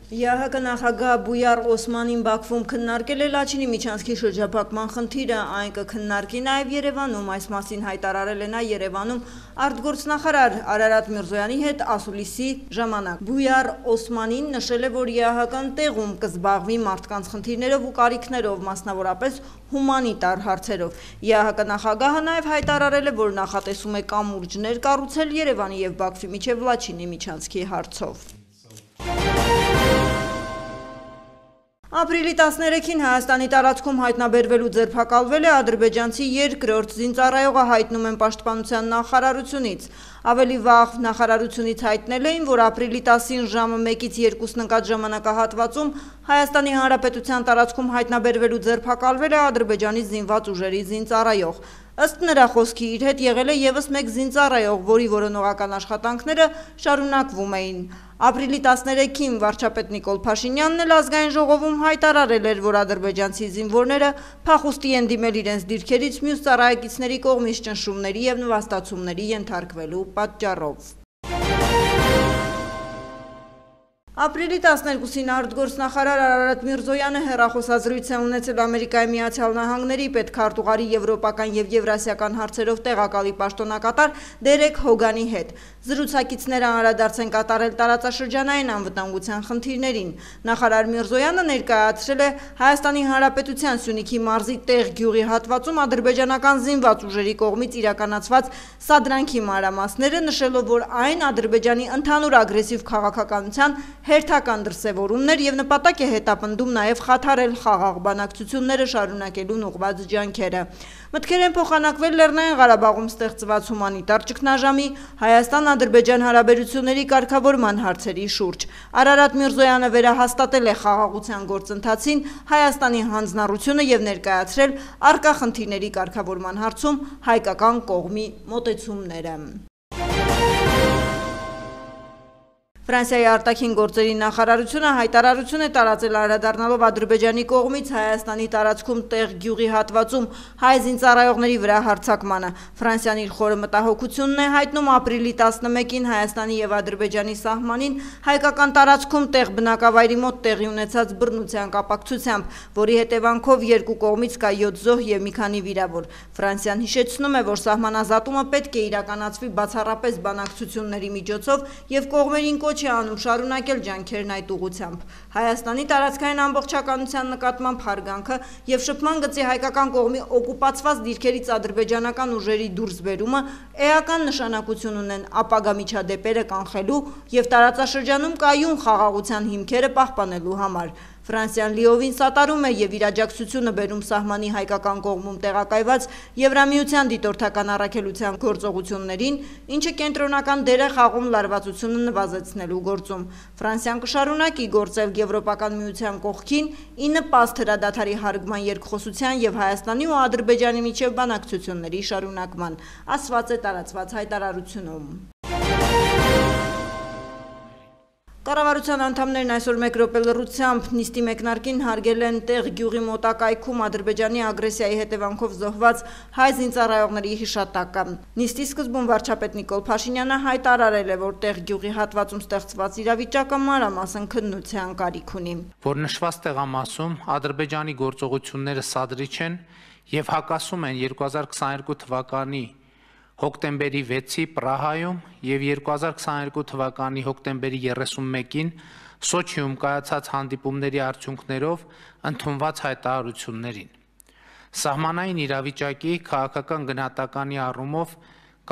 ԵԱՀԿ նախագահ Բույար Օսմանին Բաքվում քննարկել է Լաչինի միջանցքի շրջափակման խնդիրը, այն կքննարկի նաև Երևանում, այս մասին հայտարարել է նա Երևանում արտգործնախարար Արարատ Միրզոյանի հետ ասուլիսի ժամանակ։ Բույար Օսմանին նշել է, որ ԵԱՀԿ-ն տեղում կզբաղվի մարդկանց խնդիրներով ու կարիքներով, մասնավորապես հումանիտար հարցերով։ ԵԱՀԿ նախագահը նաև հայտարարել է, որ նախատեսում է կամուրջներ կառուցել Երևանի եւ Բաքվի միջև Լաչինի միջանցքի հարցով։ Ապրիլի 13-ին Հայաստանի տարածքում հայտնաբերվելու ձերբակալվել է ադրբեջանցի երկրորդ զինծառայողը, հայտնում են Պաշտպանության նախարարությունից։ Ավելի վաղ նախարարությունից հայտնել էին, որ ապրիլի 10-ին ժամը 1-ից 2-ն ընկած ժամանակահատվածում Հայաստանի Հանրապետության տարածքում հայտնաբերվելու ձերբակալվել է Ադրբեջանի զինված ուժերի զինծառայող։ Ըստ նրա խոսքի իր հետ եղել է եւս մեկ զինծառայող, որի որոնողական աշխատանքները շարունակվում էին։ Ապրիլի 13-ին վարչապետ Նիկոլ Փաշինյանն էլ ազգային ժողովում հայտարարել էր, որ ադրբեջանցի զինվորները փախուստի են դիմել իրենց դիրքերից մյուս ծառայեկիցների կողմից ճնշումների եւ նվաստացումների ենթարկվելու պատճառով։ Ապրիլի 12-ին արտգործնախարար Արարատ Միրզոյանը հեռախոսազրույց է ունեցել Ամերիկայի Միացյալ Նահանգների պետքարտուղարի եվրոպական եւ եվրասիական հարցերով տեղակալի պաշտոնակատար Դերեկ Հոգանի հետ։ Զրուցակիցները անդրադարձ են կատարել տարածաշրջանային անվտանգության խնդիրներին։ Նախարար Միրզոյանը ներկայացրել է Հայաստանի Հանրապետության Սյունիքի մարզի Տեղ գյուղի հատվածում ադրբեջանական զինված ուժերի կողմից իրականացված սադրանքի մանրամասները, նշելով, որ այն Ադրբեջանի ընդհանուր ագրեսիվ քաղաքականության հերթական դրսևորումն էր եւ նպատակ է հետապնդում նաեւ խաթարել խաղաղ բանակցությունները շարունակելուն ուղղված ջանքերը։ Մտքեր են փոխանակվել Լեռնային Ղարաբաղում ստեղծված հումանիտար ճգնաժամի, Հայաստան-Ադրբեջան հարաբերությունների կարգավորման հարցերի շուրջ։ Արարատ Միրզոյանը վերահաստատել է խաղաղության գործընթացին Հայաստանի հանձնառությունը եւ ներկայացրել առկա խնդիրների կարգավորման հարցում հայկական կողմի մոտեցումները։ Ֆրանսիայի արտաքին գործերի նախարարությունը հայտարարություն է տարածել անդրադառնալով Ադրբեջանի կողմից Հայաստանի տարածքում Տեղ գյուղի հատվածում հայ զինծառայողների վրա հարձակմանը։ Ֆրանսիան իր խորը մտահոգությունն է հայտնում ապրիլի 11-ին Հայաստանի եւ Ադրբեջանի սահմանին հայկական տարածքում Տեղ բնակավայրի մոտ տեղի ունեցած բռնության կապակցությամբ, որի հետևանքով երկու կողմից կա 7 զոհ եւ մի քանի վիրավոր։ Ֆրանսիան հիշեցնում է, որ սահմանազատումը պետք է իրականացվի բացառապես բանակցությունների միջոցով եւ կողմերին կոչ է անում շարունակել ջանքերն այդ ուղղությամբ։ Հայաստանի տարածքային ամբողջականության նկատմամբ հարգանքը եւ շփման գծի հայկական կողմի օկուպացված դիրքերից ադրբեջանական ուժերի դուրսբերումը էական նշանակություն ունեն ապագա միջադեպերը կանխելու եւ տարածաշրջանում կայուն խաղաղության հիմքերը պահպանելու համար։ Ֆրանսիան լիովին սատարում է եւ իր աջակցությունը բերում սահմանի հայկական կողմում տեղակայված Եվրամիության դիտորդական առաքելության գործողություններին, ինչը կենտրոնական դեր է խաղում լարվածությունը նվազեցնելու գործում։ Ֆրանսիան կշարունակի գործել Եվրոպական միության կողքին ի նպաստ հրադադարի հարգման երկխոսության եւ Հայաստանի ու Ադրբեջանի միջև բանակցությունների շարունակման, ասված է տարածված հայտարարությունում։ Կառավարության անդամներն այսօր 1 րոպե լռությամբ նիստի մեկնարկին հարգել են Տեղ գյուղի մոտակայքում Ադրբեջանի ագրեսիայի հետևանքով զոհված հայ զինծառայողների հիշատակը։ Նիստի սկզբում վարչապետ Նիկոլ Փաշինյանը հայտարարել է, որ Տեղ գյուղի հատվածում ստեղծված իրավիճակը մանրամասն քննության կարիք ունի։ Որ նշված տեղամասում Ադրբեջանի գործողությունները սադրիչ են եւ հակասում են 2022 թվականի հոկտեմբերի 6-ի Պրահայում եւ 2022 թվականի հոկտեմբերի 31-ին Սոչիում կայացած հանդիպումների արդյունքներով ընդունված հայտարարություններին։ Սահմանային իրավիճակի քաղաքական գնահատականի առումով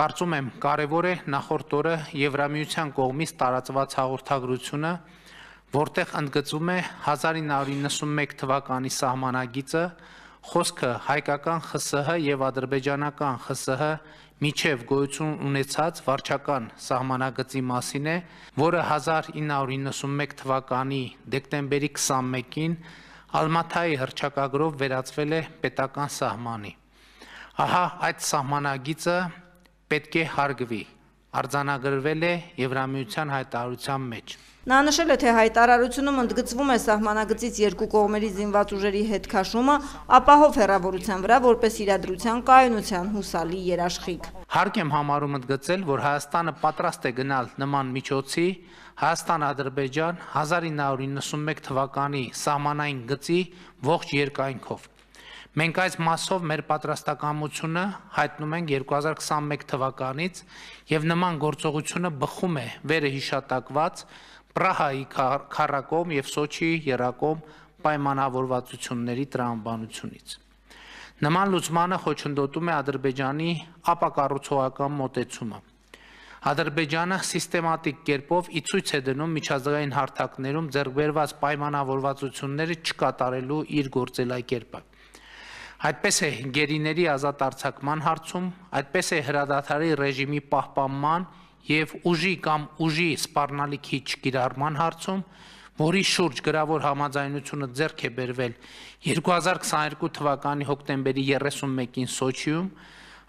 կարծում եմ կարևոր է նախորդ օրը Եվրամիության կողմից տարածված հաղորդագրությունը, որտեղ ընդգծում է 1991 թվականի սահմանագիծը, խոսքը հայկական ԽՍՀ եւ ադրբեջանական ԽՍՀ միջև գոյություն ունեցած վարչական սահմանագծի մասին է, որը 1991 թվականի դեկտեմբերի 21-ին Ալմաթայի հռչակագրով վերածվել է պետական սահմանի։ Ահա այդ սահմանագիծը պետք է հարգվի, արձանագրվել է Եվրամիության հայտարարության մեջ։ Նա նշել է, թե հայտարարությունում ընդգծվում է սահմանագծից երկու կողմերի զինված ուժերի հետ քաշումը ապահով հեռավորության վրա որպես իրադրության կայունության հուսալի երաշխիք։ Հարկ եմ համարում ընդգծել, որ Հայաստանը պատրաստ է գնալ նման միջոցի Հայաստան-Ադրբեջան 1991 թվականի սահմանային գծի ողջ երկայնքով։ Մենք այս մասով մեր պատրաստակամությունը հայտնում ենք 2021 թվականից եւ նման գործողությունը բխում է վերը հիշատակված Պրահայի քառակոմ եւ Սոչիի եռակոմ պայմանավորվածությունների տրամաբանությունից։ Նման լուծմանը խոչընդոտում է Ադրբեջանի ապակառուցողական մոտեցումը։ Ադրբեջանը սիստեմատիկ կերպով ի ցույց է դնում միջազգային հարթակներում ձեռք բերված պայմանավորվածությունները չկատարելու իր գործելակերպը։ Այդպես է գերիների ազատ արձակման հարցում, այդպես է հրադադարի ռեժիմի պահպանման եւ ուժի կամ ուժի սպառնալիքի չկիրառման հարցում, որի շուրջ գրավոր համաձայնությունը ձեռք է բերվել 2022 թվականի հոկտեմբերի 31-ին Սոչիում,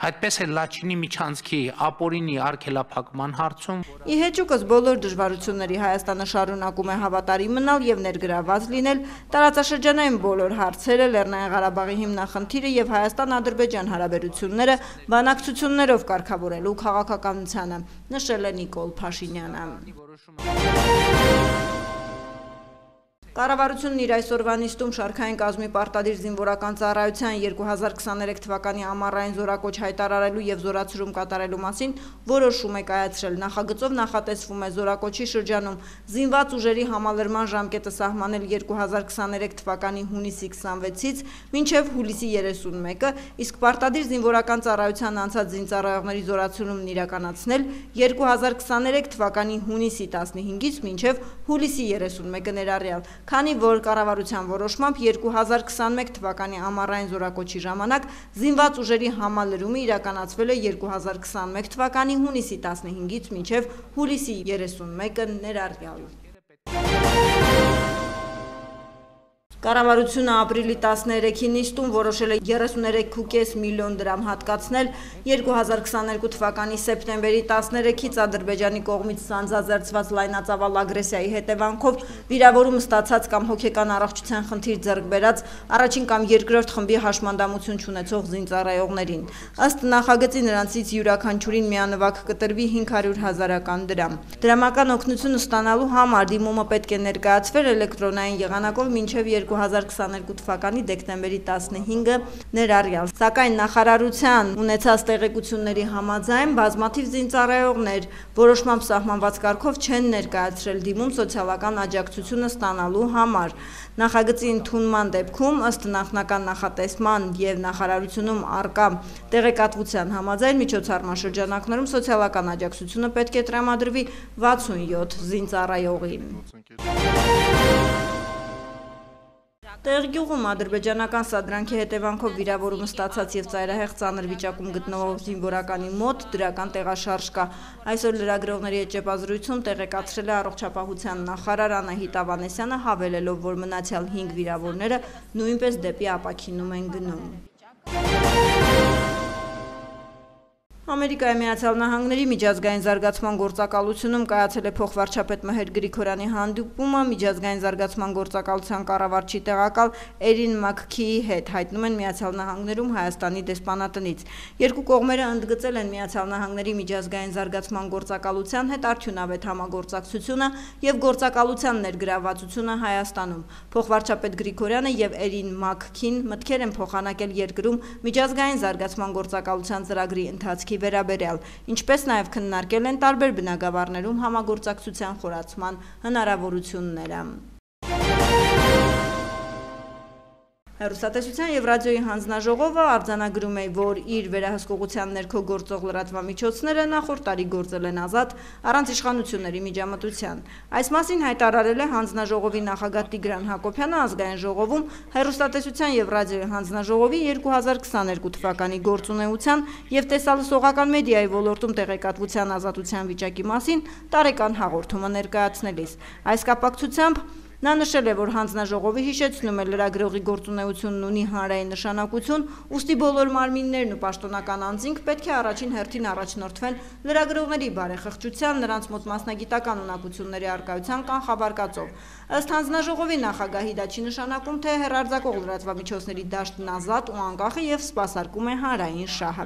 այդպես է Լաչինի միջանցքի ապօրինի արգելափակման հարցում։ Ի հեճուկս բոլոր դժվարությունների Հայաստանը շարունակում է հավատարիմ մնալ եւ ներգրաված լինել տարածաշրջանային բոլոր հարցերը, Լեռնային Ղարաբաղի հիմնախնդիրը եւ Հայաստան-Ադրբեջան հարաբերությունները բանակցություններով կարգավորելու քաղաքականությանը, նշել է Նիկոլ Փաշինյանը։ Կառավարությունն իր այսօրվա նիստում շարքային կազմի պարտադիր զինվորական ծառայության 2023 թվականի ամառային զորակոչ հայտարարելու եւ զորացում կատարելու մասին որոշում է կայացրել։ Նախագծով նախատեսվում է զորակոչի շրջանում զինված ուժերի համալրման ժամկետը սահմանել 2023 թվականի հունիսի 26-ից մինչև հուլիսի 31-ը, իսկ պարտադիր զինվորական ծառայության անցած զինծառայողների զորացումն իրականացնել 2023 թվականի հունիսի 15-ից մինչև հուլիսի 31-ը ներառյալ։ Քանի որ կառավարության որոշմամբ 2021 թվականի ամառային զորակոչի ժամանակ զինված ուժերի համալրումը իրականացվել է 2021 թվականի հունիսի 15-ից մինչև հուլիսի 31-ը ներառյալ։ Կառավարությունը ապրիլի 13-ի նիստում որոշել է 33.5 միլիոն դրամ հատկացնել 2022 թվականի սեպտեմբերի 13-ից Ադրբեջանի կողմից սանձազերծված լայնածավալ ագրեսիայի հետևանքով վիրավորում ստացած կամ հոգեկան առողջության խնդիր ձեռք բերած առաջին կամ երկրորդ խմբի հաշմանդամություն չունեցող զինծառայողներին։ Ըստ նախագծի նրանցից յուրաքանչյուրին միանվագ կտրվի 500,000 դրամ։ Դրամական օգնություն ստանալու համար դիմումը պետք է ներկայացվել էլեկտրոնային եղանակով մինչև 2022 թվականի դեկտեմբերի 15-ը ներառյալ, սակայն նախարարության ունեցած տեղեկությունների համաձայն բազմաթիվ զինծառայողներ որոշմամբ սահմանված կարգով չեն ներկայացրել դիմում սոցիալական աջակցությունը ստանալու համար։ Նախագծի ընդունման դեպքում ըստ նախնական նախատեսման եւ նախարարությունում առկա տեղեկատվության համաձայն միջոցառման շրջանակներում սոցիալական աջակցությունը պետք է տրամադրվի 67 զինծառայողի։ Տեղգյուղում ադրբեջանական սադրանքի հետևանքով վիրավորում ստացած եւ ծայրահեղ ծանր վիճակում գտնվող զինվորականի մոտ դրական տեղաշարժ կա։ Այսօր լրագրողների հետ ճեպազրույցում տեղեկացրել է առողջապահության նախարար Անահիտ Ավանեսյանը, հավելելով, որ մնացյալ 5 վիրավորները նույնպես դեպի ապաքինում են գնում։ Ամերիկայի Միացյալ Նահանգների միջազգային զարգացման գործակալությունում կայացել է փոխվարչապետ Մհեր Գրիգորյանի հանդիպումը միջազգային զարգացման գործակալության կառավարչի տեղակալ Էրին Մաքքիի հետ, հայտնում են Միացյալ Նահանգներում Հայաստանի դեսպանատնից։ Երկու կողմերը ընդգծել են Միացյալ Նահանգների միջազգային զարգացման գործակալության հետ արդյունավետ համագործակցությունը եւ գործակալության ներգրավվածությունը Հայաստանում։ Փոխվարչապետ Գրիգորյանը եւ Էրին Մաքքին մտքեր են փոխանակել երկրում միջազգային զարգացման գործակալության ծրագրի ընթացքի վերաբերյալ, ինչպես նաև քննարկել են տարբեր բնագավառներում համագործակցության խորացման հնարավորությունները։ Հեռուստատեսության եւ ռադիոյի հանձնաժողովը արձանագրում է, որ իր վերահսկողության ներքո գործող լրատվամիջոցները նախորդ տարի գործել են ազատ առանց իշխանությունների միջամտության։ Այս մասին հայտարարել է հանձնաժողովի նախագահ Տիգրան Հակոբյանը ազգային ժողովում հեռուստատեսության եւ ռադիոյի հանձնաժողովի 2022 թվականի գործունեության եւ տեսալսողական մեդիայի ոլորտում տեղեկատվության ազատության վիճակի մասին տարեկան հաղորդումը ներկայացնելիս։ Այս կապակցությամբ Նա նշել է, որ հանձնաժողովը հիշեցնում է լրագրողի գործունեությունն ունի հանրային նշանակություն, ուստի բոլոր մարմիններն ու պաշտոնական անձինք պետք է առաջին հերթին առաջնորդվեն լրագրողների բարեխղճության, նրանց մոտ մասնագիտական ունակությունների առկայության կանխավարկածով։ Ըստ հանձնաժողովի նախագահի դա չի նշանակում, թե հեռարձակող լրատվամիջոցների դաշտն ազատ ու անկախ է եւ սպասարկում է հանրային շահը։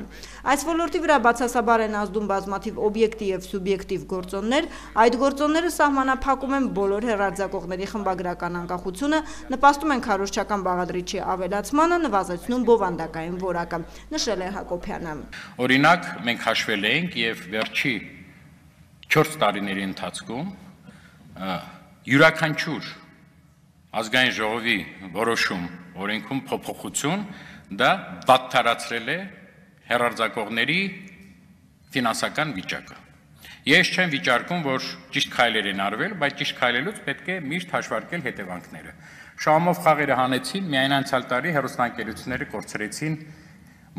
Այս ոլորտի վրա բացասաբար են ազդում բազմաթիվ օբյեկտիվ եւ սուբյեկտիվ գործոններ, այդ գործոնները սահմանափակում են բոլոր հեռարձակողների խմբագրական անկախությունը, նպաստում են քարոզչական բաղադրիչի ավելացմանը, նվազեցնում բովանդակային որակը, նշել է Հակոբյանը։ Օրինակ, մենք հաշվել էինք եւ վերջի 4 տարիների ընթացքում յուրաքանչյուր ազգային ժողովի որոշում օրենքում փոփոխություն դա վատթարացրել է հեռարձակողների ֆինանսական վիճակը։ Ես չեմ վիճարկում, որ ճիշտ քայլեր են արվել, բայց ճիշտ քայլելուց պետք է միշտ հաշվարկել հետևանքները։ Շահումով խաղերը հանեցին, միայն անցյալ տարի հեռուստաընկերությունները կորցրեցին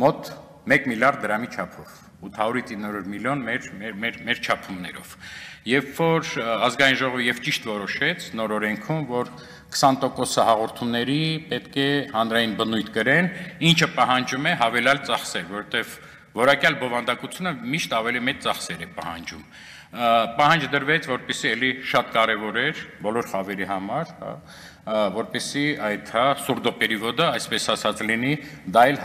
մոտ 1 միլիարդ դրամի չափով, 800-900 միլիոն մեր չափումներով։ Երբ որ ազգային ժողովը եւ ճիշտ որոշեց նոր օրենքում, որ 20% հաղորդումների պետք է հանրային բնույթ կրեն, ինչը պահանջում է հավելյալ ծախսեր, որտեղ որակյալ բովանդակությունը միշտ ավելի մեծ ծախսեր է պահանջում։ Պահանջ դրվեց, որպեսզի էլի շատ կարևոր էր բոլոր խավերի համար, որպեսզի այդ սուրդոպերիվոդը, այսպես ասած լինի, դա էլ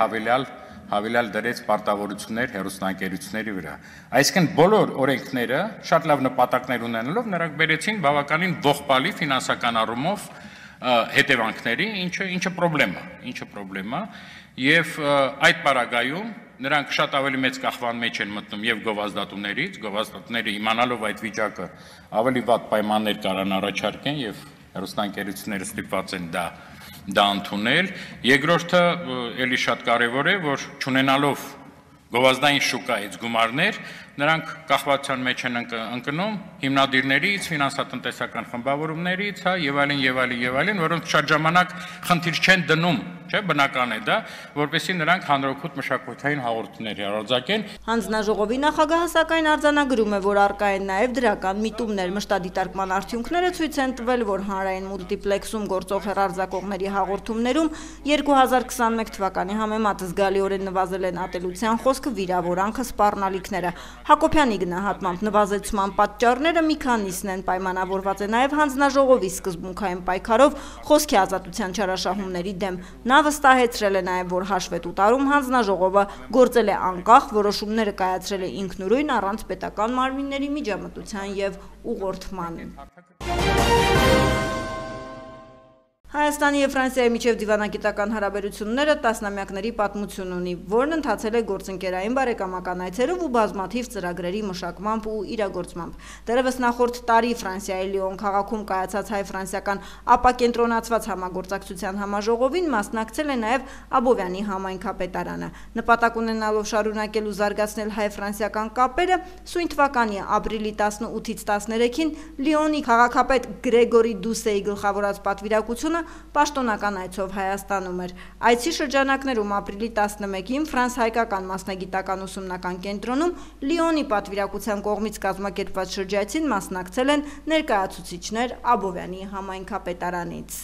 հավելյալ դրեց պարտավորություններ հեռուստաընկերությունների վրա։ Այսինքն բոլոր օրենքները շատ լավ նպատակներ ունենալով նրանք բերեցին բավականին ողբալի ֆինանսական առումով հետևանքների, ինչը պրոբլեմ է, եւ այդ պարագայում նրանք շատ ավելի մեծ կախվան մեջ են մտնում եւ գովազդատուներից, գովազդատուները իմանալով այդ վիճակը ավելի վատ պայմաններ կարան առաջարկեն եւ հեռուստաընկերությունները ստիպված են դա ընդունել։ Երկրորդը էլի շատ կարևոր է, որ չունենալով գովազդային շուկայից գումարներ, նրանք կախվածության մեջ են ընկնում հիմնադիրներից, ֆինանսատնտեսական խմբավորումներից, եւ այլն, որոնք շատ ժամանակ խնդիր չեն դնում, չէ, բնական է դա, որպեսզի նրանք հանրօգուտ մշակութային հաղորդումներ հեռարձակեն։ Հանձնաժողովի նախագահը սակայն արձանագրում է, որ առկա են նաև դրական միտումներ, մշտադիտարկման արդյունքները ցույց են տվել, որ հանրային մուլտիպլեքսում գործող հեռարձակողների հաղորդումներում 2021 թվականի համեմատ զգալիորեն նվազել են ատելության խոսքը, վիրավորանքը, սպառնալիքները։ Հակոբյանի գնահատմամբ նվազեցման պատճառները մի քանիսն են, պայմանավորված է նաև հանձնաժողովի սկզբունքային պայքարով խոսքի ազատության չարաշահումների դեմ։ Նա վստահեցրել է նաև, որ հաշվետու տարում հանձնաժողովը գործել է անկախ, որոշումները կայացրել է ինքնուրույն առանց պետական մարմինների միջամտության եւ ուղղորդման։ Հայաստանի եւ Ֆրանսիայի միջև դիվանագիտական հարաբերությունները տասնամյակների պատմություն ունի, որն ընթացել է գործընկերային բարեկամական այցերով ու բազմաթիվ ծրագրերի մշակմամբ ու իրագործմամբ։ Դեռևս նախորդ տարի Ֆրանսիայի Լիոն քաղաքում կայացած հայ-ֆրանսիական ապակենտրոնացված համագործակցության համաժողովին մասնակցել է նաև Աբովյանի համայնքապետարանը։ Նպատակ ունենալով շարունակել ու զարգացնել հայ-ֆրանսիական կապերը, սույն թվականի ապրիլի 18-ից 13-ին Լիոնի քաղաքապետ Գրեգորի Դուսեի գլխավորած պատվիրակությունը պաշտոնական այցով Հայաստանում էր։ Այցի շրջանակներում ապրիլի 11-ին ֆրանս-հայկական մասնագիտական ուսումնական կենտրոնում Լիոնի պատվիրակության կողմից կազմակերպված շրջայցին մասնակցել են ներկայացուցիչներ Աբովյանի համայնքապետարանից։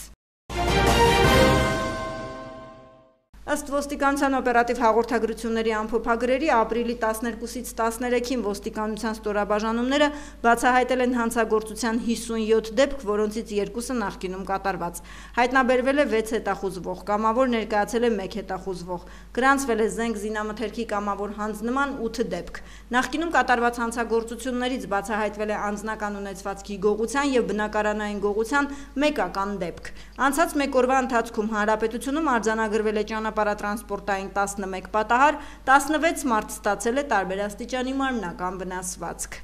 Ըստ ոստիկանության օպերատիվ հաղորդագրությունների ամփոփագրերի ապրիլի 12-ից 13-ին ոստիկանության ստորաբաժանումները բացահայտել են հանցագործության 57 դեպք, որոնցից 2-ը նախկինում կատարված։ Հայտնաբերվել է 6 հետախուզվող, կամավոր ներկայացել է 1 հետախուզվող, գրանցվել է զենք զինամթերքի կամավոր հանձնման 8 դեպք։ Նախկինում կատարված հանցագործություններից բացահայտվել է անձնական ունեցվածքի գողության եւ բնակարանային գողության 1 ական դեպք։ Անցած 1 օրվա ընթացքում հանրապետությունում արձանագրվել է ճանապարհատրանսպորտային 11 պատահար, 16 մարդ ստացել է տարբեր աստիճանի մարմնական վնասվածք։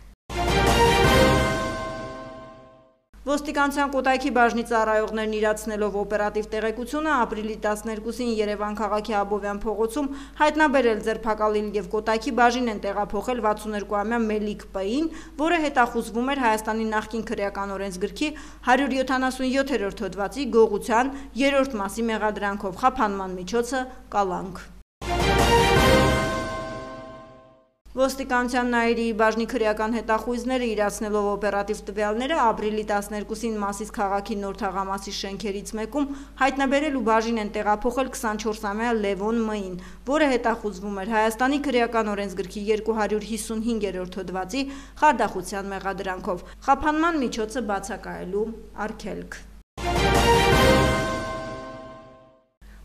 Ոստիկանության Կոտայքի բաժնի ծառայողներն իրացնելով օպերատիվ տեղեկությունը ապրիլի 12-ին Երևան քաղաքի Աբովյան փողոցում հայտնաբերել ձերբակալել եւ Կոտայքի բաժին են տեղափոխել 62-ամյա Մելիք Պ-ին, որը հետախուզվում էր Հայաստանի նախկին քրեական օրենսգրքի 177-րդ հոդվածի գողության 3-րդ մասի մեղադրանքով խափանման միջոցը կալանք։ Ոստիկանության Նայիրի բաժնի քրեական հետախույզները իրացնելով օպերատիվ տվյալները ապրիլի 12-ին Մասիս քաղաքի Նոր Թաղամասի շենքերից մեկում հայտնաբերել ու բաժին են տեղափոխել 24-ամյա Լևոն Մ-ին, որը հետախուզվում էր Հայաստանի քրեական օրենսգրքի 255-րդ հոդվածի խարդախության մեղադրանքով։ Խափանման միջոցը բացակայելու արգելք։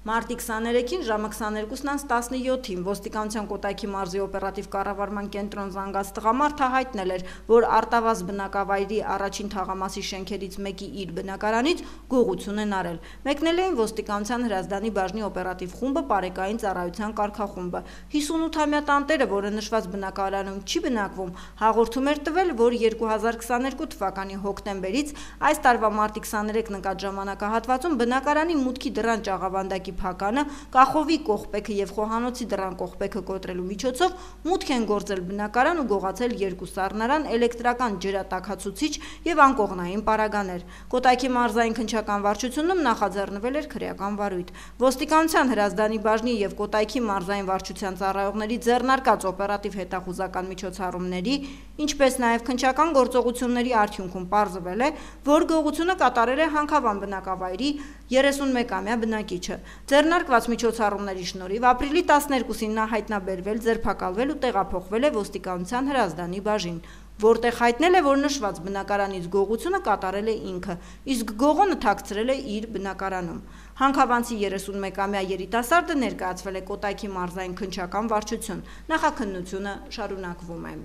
Մարտի 23-ին ժամը 22:17-ին ոստիկանության Կոտայքի մարզի օպերատիվ կառավարման կենտրոն զանգած տղամարդը հայտնել էր, որ արտավազ բնակավայրի առաջին թաղամասի շենքերից մեկի իր բնակարանից գողություն են արել։ Մեկնել էին ոստիկանության Հրազդանի բաժնի օպերատիվ խումբը, Պարեկային ծառայության կարգախումբը։ 58-ամյա տանտերը, որը նշված բնակարանում չի բնակվում, հաղորդում էր տվել, որ 2022 թվականի հոկտեմբերից այս տարվա մարտի 23 նկատ ժամանակահատվածում բնակարանի մուտքի դռան ճաղավանդակի փականը, կախովի կողպեքը եւ խոհանոցի դռան կողպեքը կոտրելու միջոցով մուտք են գործել բնակարան ու գողացել 2 սառնարան, էլեկտրական ջրատաքացուցիչ եւ անկողնային պարագաներ։ Կոտայքի մարզային քննչական վարչությունում նախաձեռնվել էր քրեական վարույթ։ Ոստիկանության Հրազդանի բաժնի եւ Կոտայքի մարզային վարչության ծառայողների ձեռնարկած օպերատիվ հետախուզական միջոցառումների, ինչպես նաեւ քննչական գործողությունների արդյունքում պարզվել է, որ գողությունը կատարել է Հանքավան բնակավայրի 31-ամյա բնակիչը։ Ձեռնարկված միջոցառումների շնորհիվ ապրիլի 12-ին նա հայտնաբերվել, ձերբակալվել ու տեղափոխվել է ոստիկանության Հրազդանի բաժին, որտեղ հայտնել է, որ նշված բնակարանից գողությունը կատարել է ինքը, իսկ գողոնը թաքցրել է իր բնակարանում։ Հանքավանցի 31-ամյա երիտասարդը ներկայացվել է Կոտայքի մարզային քննչական վարչություն։ Նախաքննությունը շարունակվում է։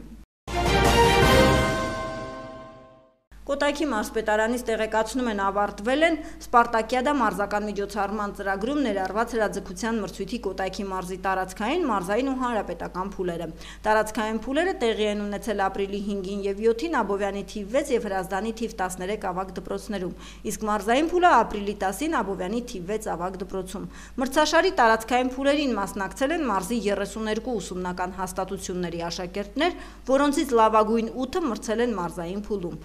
Կոտայքի մարզպետարանից տեղեկացնում են ավարտվել են Սպարտակիադա մարզական միջոցառման ծրագրում ներառված հրաձգության մրցույթի Կոտայքի մարզի տարածքային, մարզային ու հանրապետական փուլերը։ Տարածքային փուլերը տեղի են ունեցել ապրիլի 5-ին եւ 7-ին Աբովյանի թիվ 6 եւ Հրազդանի թիվ 13 ավագ դպրոցներում, իսկ մարզային փուլը ապրիլի 10-ին Աբովյանի թիվ 6 ավագ դպրոցում։ Մրցաշարի տարածքային փուլերին մասնակցել են մարզի 32 ուսումնական հաստատությունների աշակերտներ, որոնցից լավագույն 8-ը մրցել են մարզային փուլում։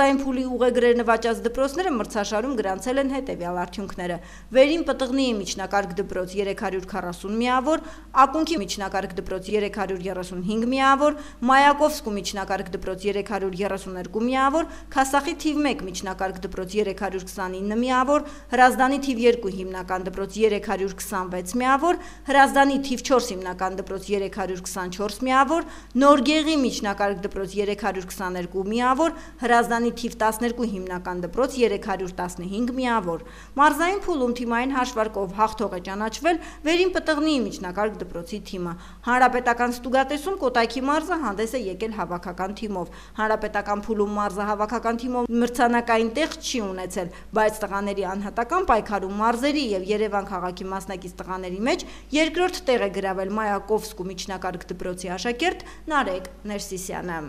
Մարզային փուլի ուղեգրեր նվաճած դպրոցները մրցաշարում գրանցել են հետևյալ արդյունքները. Վերին Պտղնիի միջնակարգ դպրոց 340 միավոր, Ակունքի միջնակարգ դպրոց 335 միավոր, Մայակովսկու միջնակարգ դպրոց 332 միավոր, Քասախի թիվ 1 միջնակարգ դպրոց 329 միավոր, Հրազդանի թիվ 2 հիմնական դպրոց 326 միավոր, Հրազդանի թիվ 4 հիմնական դպրոց 324 միավոր, Նորգեղի միջնակարգ դպրոց 322 միավոր, Հրազդանի թիվ 12 հիմնական դպրոց 315 միավոր։ Մարզային փուլում թիմային հաշվարկով հաղթող է ճանաչվել Վերին Պտղնիի միջնակարգ դպրոցի թիմը։ Հանրապետական ստուգատեսում Կոտայքի մարզը հանդես է եկել հավաքական թիմով։ Հանրապետական փուլում մարզը հավաքական թիմով մրցանակային տեղ չի ունեցել, բայց տղաների անհատական պայքարում մարզերի եւ Երևան քաղաքի մասնակից տղաների մեջ երկրորդ տեղ է գրավել Մայակովսկու միջնակարգ դպրոցի աշակերտ Նարեկ Ներսիսյանը։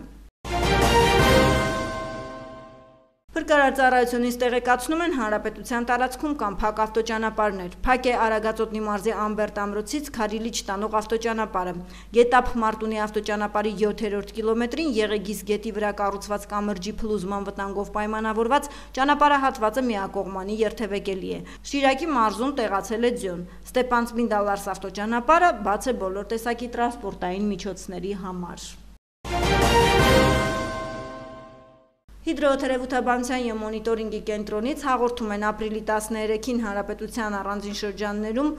Փրկարարծառայությունից տեղեկացնում են հանրապետության տարածքում կան փակ ավտոճանապարհներ։ Փակ է Արագածոտնի մարզի Ամբերտ ամրոցից Քարիլիչ տանող ավտոճանապարհը։ Գետափ Մարտունի ավտոճանապարհի 7-րդ կիլոմետրին Եղեգիս գետի վրա կառուցված կամրջի փլուզման վտանգով պայմանավորված ճանապարհահատվածը միակողմանի երթևեկելի է։ Շիրակի մարզում տեղացել է ձյուն։ Ստեփանցմին-Դալարս ավտոճանապարհը բաց է բոլոր տեսակի տրանսպորտային միջոցների համար։ Հիդրոթերապևտաբանության և մոնիտորինգի կենտրոնից հաղորդում են ապրիլի 13-ին հանրապետության առանձին շրջաններում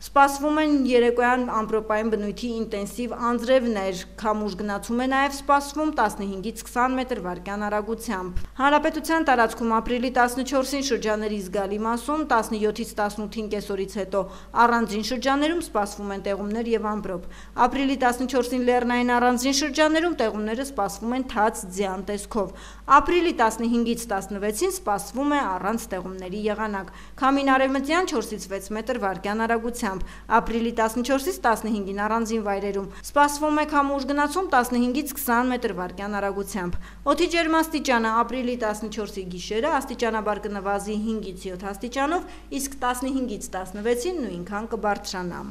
սպասվում են երեկոյան ամպրոպային բնույթի ինտենսիվ անձրևներ, քամուշ գնացում է նաև սպասվում 15-ից 20 մետր վարկյան արագությամբ։ Հանրապետության տարածքում ապրիլի 14-ին շրջանների զգալի մասում, 17-ից 18-ին կեսօրից հետո առանձին շրջաններում սպասվում են տեղումներ և ամպրոպ։ Ապրիլի 14-ին լեռնային առանձին շրջաններում տեղումները սպասվում են թաց ձյան տեսքով։ Ապրիլի 15-ից 16-ին սպասվում է առանց տեղումների եղանակ։ Քամին արևմտյան 4-ից 6 մետր վարկյան արագությամբ։ Ապրիլի 14-ից 15-ին առանձին վայրերում սպասվում է քամուշ գնացում 15-ից 20 մետր վարկյան արագությամբ։ Օդի ջերմաստիճանը ապրիլի 14-ի գիշերը աստիճանաբար կնվազի 5-ից 7 աստիճանով, իսկ 15-ից 16-ին նույնքան կբարձրանա։